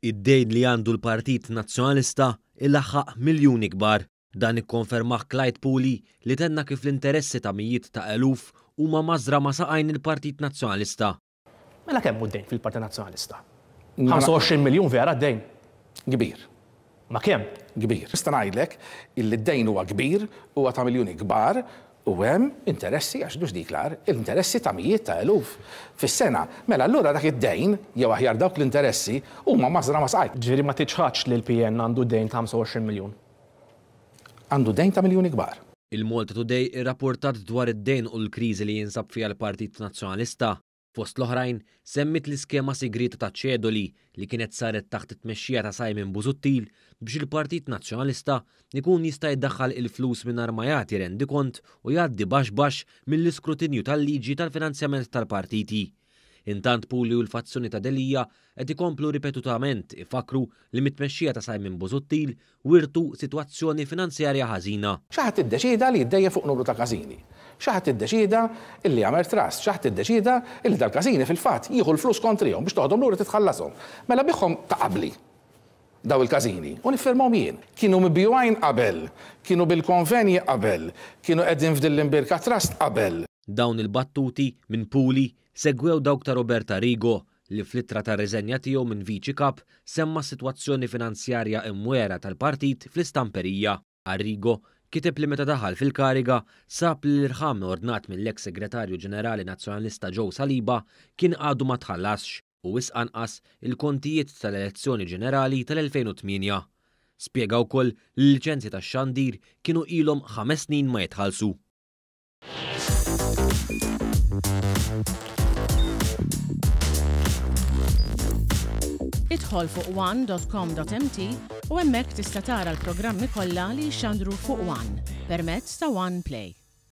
Id-dejn li għandu l-Partit Nazzjonalista ilaħħaq miljuni kbar. Dan ikkonfermah Clyde Puli li tenna kif l-interessi ta' mijiet ta' eluf huma mażra ma' saqajn il-Partit Nazzjonalista. Mela kemm hu d-dejn fil-Partit Nazzjonalista? 25 miljun vera d-dejn? Kbir. Ma kemm? Kbir. Nista' ngħidlek illi d-dejn huwa kbir, huwa ta' miljuni kbar u hemm interessi, għax mhux dik l-agħar, interessi ta' mijiet ta' eluf fis-sena. Mela allura dak id-dejn, jew aħjar dawk l-interessi, huma mażra ma' saqajk. Ġifieri ma tiċħadx li l-PN għandu dejn ta' 25 miljun? Għandu dejn ta' miljuni kbar. Il-Malta Today irrapportat dwar id-dejn u l-kriżi li jinsab fiha l-Partit Nazzjonalista. Fost l-oħrajn, semmiet l-iskema sigrieta ta' ċedoli li kienet saret taħt it-tmexxija ta' Simon Busuttil biex il-Partit Nazzjonalista jkun jista' jdaħħal il-flus mingħajr ma jagħti rendikont u jgħaddi baxx baxx mill-iskrutinju tal-liġi tal-finanzjament tal-partiti. Intant Puli u l-fazzjoni ta' Delia qed ikomplu ripetutament ifakkru li mit-tmexxija ta' Simon Busuttil wirtu sitwazzjoni finanzjarja ħażina. Xi ħadd iddeċieda li jiddejjen fuq numru ta' każini. Xi ħadd iddeċieda illi jagħmel trust. Xi ħadd iddeċieda illi dal-każini fil-fatt jieħu l-flus kontrihom biex toħodhom lura titħallashom. Mela biegħhom ta' qabli daw il-każini u niffirmahom jien. Kienu mibjugħin qabel, kienu bil-konvenji qabel, kienu qegħdin f'din l-imbierka trust qabel. Dawn il-battuti minn Puli segwew dawk ta' Robert Arrigo li fl-ittra ta' riżenja tiegħu minn Viċi Kap semma s-sitwazzjoni finanzjarja imwiegħra tal-partit fl-istamperija. Arrigo kiteb li meta daħal fil-kariga sab li l-irħam ordnat mill-eks Segretarju Ġenerali Nazzjonalista Joe Saliba kien għadu ma tħallasx u wisq anqas il-kontijiet tal-elezzjoni ġenerali tal-2008. Spjega wkoll li l-liċenzji tax-xandir kienu ilhom ħames snin ma jitħallsu. Idħol fuq one.com.mt u hemmhekk tista' tara l-programmi kollha li jixxandru fuq One permezz ta' One Play.